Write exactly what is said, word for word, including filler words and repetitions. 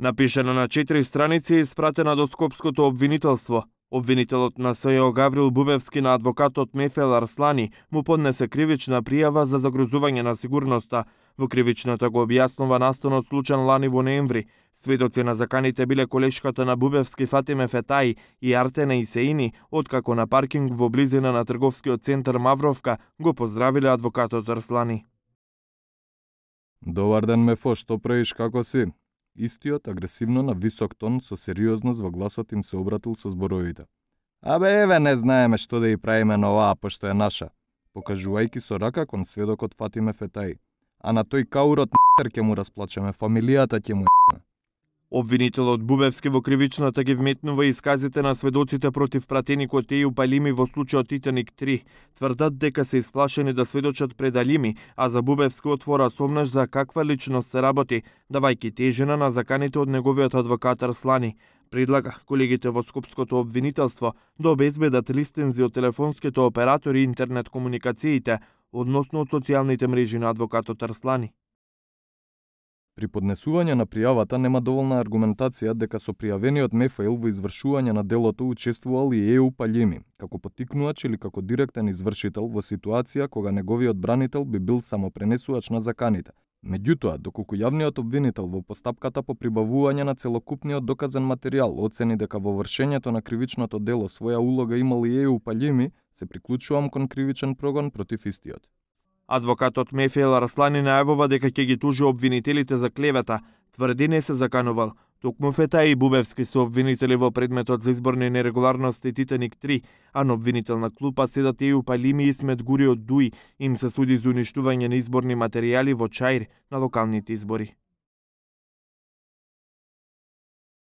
Напишана на четири страници и испратена до Скопското обвинителство. Обвинителот на СЈО Гаврил Бубевски на адвокатот Мефел Арслани му поднесе кривична пријава за загрозување на сигурноста. Во кривичната го објаснува настанот случај лани во ноември. Сведоци на заканите биле колешката на Бубевски Фатиме Фетаи и Артена Исеини, откако на паркинг во близина на трговскиот центар Мавровка го поздравиле адвокатот Арслани. Добар ден, Мефо, што правиш, како си? Истиот агресивно на висок тон со сериозност во гласот им се обратил со зборовите. Абе, еве, не знаеме што да ја правиме на оваа, пошто е наша, покажувајќи со рака кон сведокот Фатиме Фетаи. А на тој каурот н***ер ќе му расплачеме, фамилијата ќе му н***ме. Обвинителот Бубевски во кривичната ги вметнува исказите на сведоците против пратеникот Ејуп Алими во случајот Титаник три. Тврдат дека се исплашени да сведочат пред Алими, а за Бубевски отвора сомнеш за каква личност се работи, давајќи тежина на заканите од неговиот адвокат Арслани. Предлага колегите во Скопското обвинителство да обезбедат листензи од телефонските оператори и интернет комуникациите, односно од социјалните мрежи на адвокатот Арслани. При поднесување на пријавата нема доволна аргументација дека со пријавениот Мефаил во извршување на делото учествувал и Ејуп Алими, како поттикнувач или како директен извршител во ситуација кога неговиот бранител би бил само пренесувач на заканите. Меѓутоа, доколку јавниот обвинител во постапката по прибавување на целокупниот доказен материјал оцени дека во вршењето на кривичното дело своја улога имал и Ејуп Алими, се приклучувам кон кривичен прогон против истиот. Адвокатот Мефел Арслани најавува дека ќе ги тужи обвинителите за клевета, тврди не се заканувал. Токму Фетаи и Бубевски се обвинители во предметот за изборни нерегуларности Титаник три, а на обвинителна клупа седат Ејуп Алими и Исмет Гури од Дуи, им се суди за уништување на изборни материјали во Чаир на локалните избори.